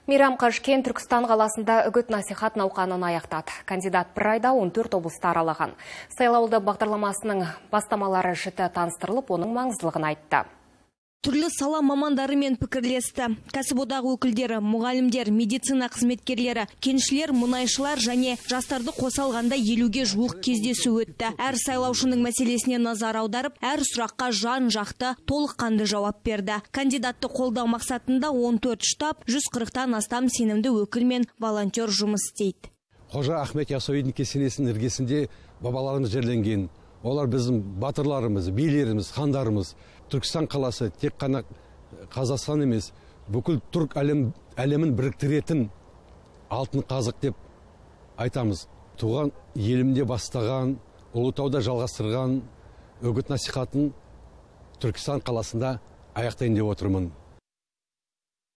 Мейрам Қажкен Түркістан қаласында үгіт-насихат науқанын аяқтады. Кандидат бір айда 14 облысты аралаған. Сайлауалды бағдарламасының бастамалары жіті таныстырылып, оның маңыздылығын айтты. Түрлі сала мамандарымен пікірлесті. Кәсіподақ өкілдері, мұғалімдер, медицина қызметкерлері, кеншілер, мұнайшылар және жастарды қоса алғанда 50-ге жуық кездесу өтті. Әр сайлаушының мәселесіне назар аударып, әр сұраққа жан-жақты толыққанды жауап берді. Кандидатты қолдау мақсатында 14 штаб, 140-тан астам сенімді өкіл мен волонтер жұмыс істейді. Қожа Ахмет Яссауидің кесенесінің іргесінде бабаларымыз жерленген. Олар біздің батырларымыз, билеріміз, хандарымыз. Түркістан қаласы тек қана Қазақстан емес, бүкіл түрк әлемін біріктіретін алтын қазық деп айтамыз. Туған елімде бастаған, Ұлытауда жалғастырған үгіт насихатын Түркістан қаласында аяқтайын деп отырмын.